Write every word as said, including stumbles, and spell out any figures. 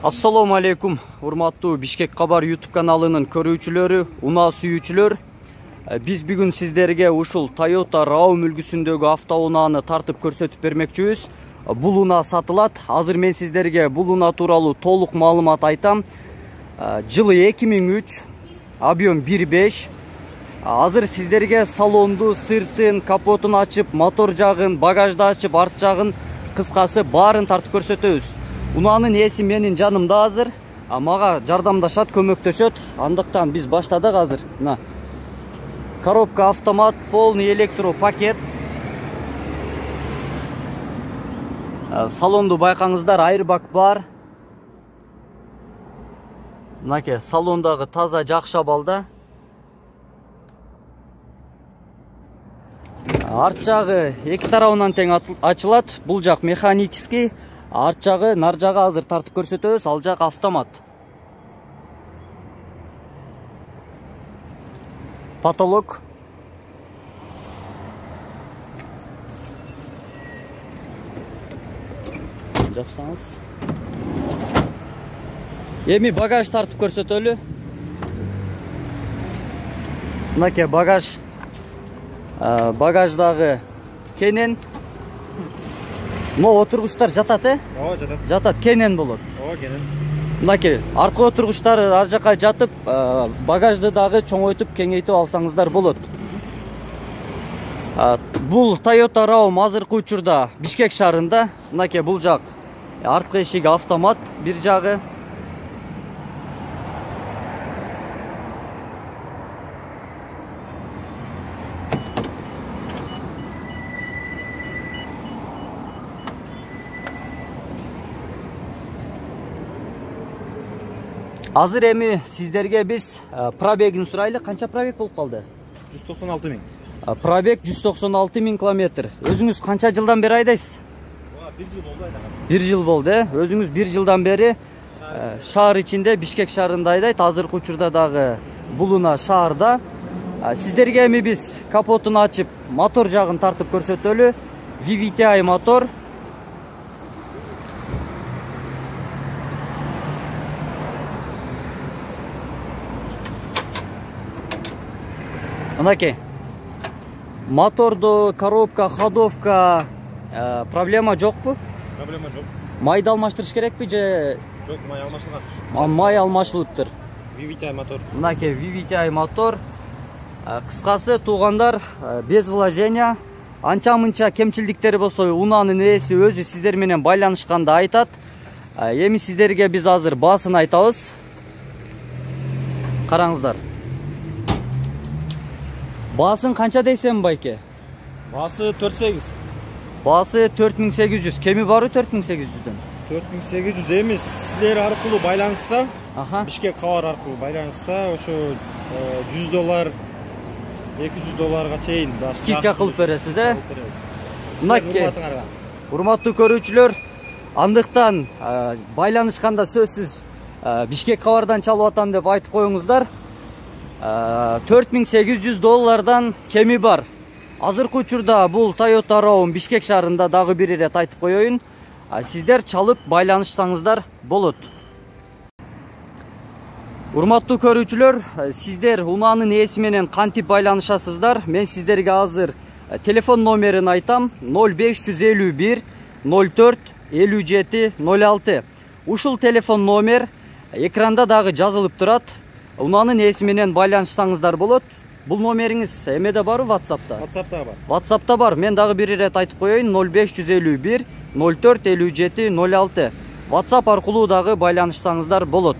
Assalamu alaikum, урматтуу Бишкек Кабар YouTube каналынын көрүүчүлөрү, унаа сүйүүчүлөр. Биз бүгүн сиздерге ушул Toyota RAV үлгүсүндөгү автоунааны тартып көрсөтүп бермекчибиз. Бул унаа сатылат. Азыр мен сиздерге бул унаа тууралуу толук маалымат айтам. Жылы эки миң үч, объем бир беш. Азыр сиздерге салонду, сыртын, капотун ачып, мотор жагын, багажды ачып, арт жагын, кыскасы баарын тартып көрсөтөбүз. Унаанын ээси менин жанымда азыр, мага жардамдашат, көмөктөшөт. Андыктан биз баштадык азыр. Мына. Коробка автомат, полный электро пакет. Салонду байкаңыздар, айрбак бар. Мынакей, салондагы таза жакшы абалда. Арт жагы эки тарабынан тең ачылат. Бул жак механический. Арт жагы, нар жагы азыр тартып көрсөтөбүз, ал жак автомат. Потолок. Жапсаңыз. Эми багаж тартып көрсөтөлү. Мынакей багаж. Багаждагы кенен. Но отургучтар жатат, э? Ооба, жатат. Жатат, кенен болот. Ооба, кенен. Мынакей, арткы отургучтар ар жака жатып, багажды дагы чоңойтуп, кеңейтип алсаңыздар болот. Бул Toyota RAV азыркы учурда Бишкек шаарында. Мынакей, бул жак арткы эшиги автомат, бир жагы. Азыр эми сиздерге биз пробегин сурайлы. Канча пробег болуп калды? жүз токсон алты миң. Пробег жүз токсон алты миң километр. Өзүңүз канча жылдан бери айдайсыз? бир жыл болду айдаган. бир жыл болду, э? Өзүңүз бир жылдан бери шаар ичинде, Бишкек шаарында айдайт. Азыркы учурда дагы бул унаа шаарда. Сиздерге эми биз капотун ачып, мотор жагын тартып көрсөтөлү. ви ви ти ай мотор. Мынакей, моторду, коробка, ходовка проблема жокпу? Проблема жок. Майды алмаштырыш керекпи же? Жок, май алмашылган. Май алмашылыптыр. ви ви ти ай мотор. Мынакей, ви ви ти ай мотор. Кыскасы, туугандар, без вложения. Анча-мынча кемчилдиктери болсо, унаанын ээси өзү сиздер менен байланышканда айтат. Эми сиздерге биз азыр баасын айтабыз. Караңыздар. Баасын канча дейсем, байке? Баасы төрт сегиз. Баасы төрт миң сегиз жүз. Кеми барбы төрт миң сегиз жүздөн? төрт миң сегиз жүз эмес. Силер аркылуу байланышса, Аха. Бишкек Кабар аркылуу байланышса, ошо жүз доллар, эки жүз долларга чейин скидка кылып бересиз, э? Мынакей, урматтуу көрүүчүлөр, андыктан байланышканда сөзсүз Бишкек Кабардан чалып атам деп айтып коюңуздар. төрт миң сегиз жүз доллардан кеми бар. Азыркы учурда бул Toyota RAV Бишкек шаарында дагы бир ирет айтып коеюн. Сиздер чалып байланышсаңыздар болот. Урматтуу көрүүчүлөр, сиздер унаанын ээси менен кантип байланышасыздар? Мен сиздерге азыр телефон номерин айтам. ноль беш жүз элүү бир ноль төрт элүү жети ноль алты. Ушул телефон номер экранда дагы жазылып турат. Унаанын ээси менен байланышсаңыздар болот. Бул номериңиз эмеде барбы, WhatsApp'та? WhatsApp'та бар. WhatsApp'та бар. Мен дагы бир ирет айтып коеюн. ноль беш жүз элүү бир ноль төрт элүү жети ноль алты. WhatsApp аркылуу дагы байланышсаңыздар болот.